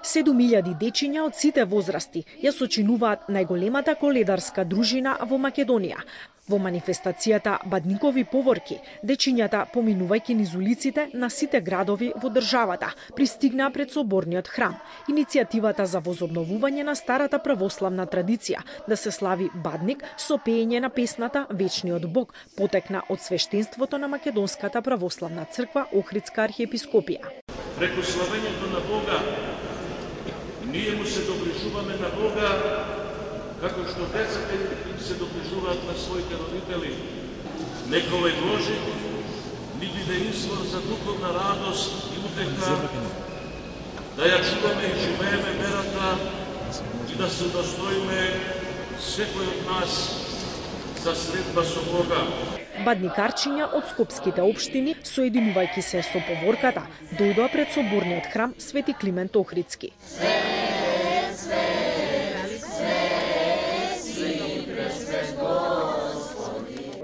7.000 дечиња од сите возрасти ја сочинуваат најголемата коледарска дружина во Македонија. Во манифестацијата Бадникови поворки, дечињата, поминувајќи низ улиците на сите градови во државата, пристигнаа пред соборниот храм. Иницијативата за возобновување на старата православна традиција да се слави Бадник со пеење на песната Вечниот Бог потекна од свештенството на Македонската православна црква Охридска архиепископија. Преку славењето на Бога, ние му се доближуваме на Бога, како што децата им се доближуваат на своите родители. Нека овој Божик ни биде извор за духовна радост и утеха, да ја чуваме и живееме верата и да се удостоиме секој од нас за средба со Бога. Бадникарчиња од скопските општини, соединувајќи се со поворката, дојдоа пред соборниот храм Свети Климент Охридски.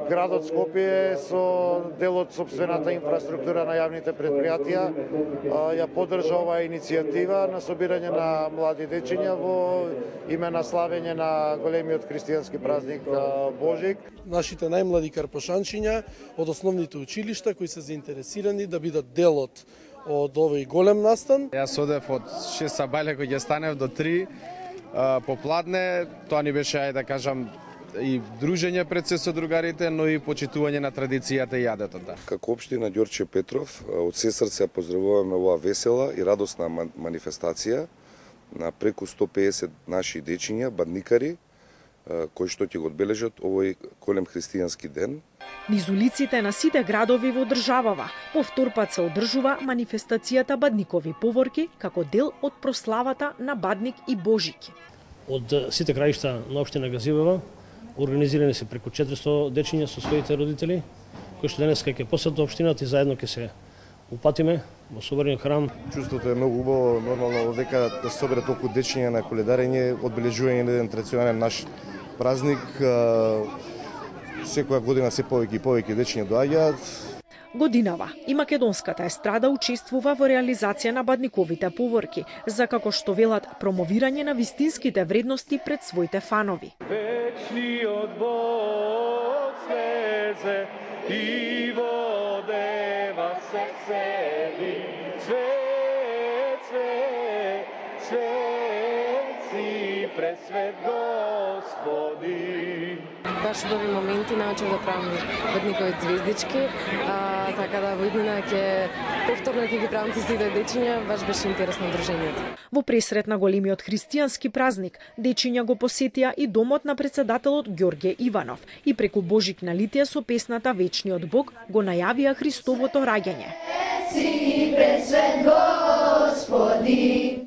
Градот Скопје со дел од сопствената инфраструктура на јавните предпријатија ја поддржа оваа иницијатива на собирање на млади дечиња во име на славење на големиот христијански празник Божик. Нашите најмлади карпошанчиња од основните училишта кои се заинтересирани да бидат дел од овој голем настан. Јас одев од 6 сабајле кој ќе станев до 3 попладне. Тоа ни беше, ајде да кажам, и дружење пред се со другарите, но и почитување на традицијата и јадетото. Како општина Ѓорче Петров, од се срце поздравуваме оваа весела и радосна манифестација на преку 150 наши дечиња, бадникари, кои што ќе го одбележат овој голем христијански ден. Низ улиците на сите градови во државава повтор пат се одржува манифестацијата Бадникови поворки како дел од прославата на Бадник и Божик. Од сите краишта на општина Газивева организирани се преку 400 дечиња со своите родители, кои што денес ќе посетат општината и заедно ќе се упатиме во соборниот храм. Чувството е многу убаво, нормално дека да се соберат толку дечиња на коледарење, одбележување на еден традиционален наш празник. Секоја година се повеќе и повеќе дечиња доаѓаат. Годинава и македонската естрада учествува во реализација на Бадниковите поворки, за како што велат промовирање на вистинските вредности пред своите фанови. Вечниот Бог слезе и водева се седи, свет, свет, свет си пресвет Господи. Баш убави моменти научив да правам Бадникови звездички, така да во иднина повторно ќе ги правам со сите дечиња, баш беше интересно дружењето. Во пресрет на големиот христијански празник, дечиња го посетија и домот на председателот Ѓорѓе Иванов и преку Божик налитија со песната Вечниот Бог го најавија Христовото раѓање. Си пресвет Господи,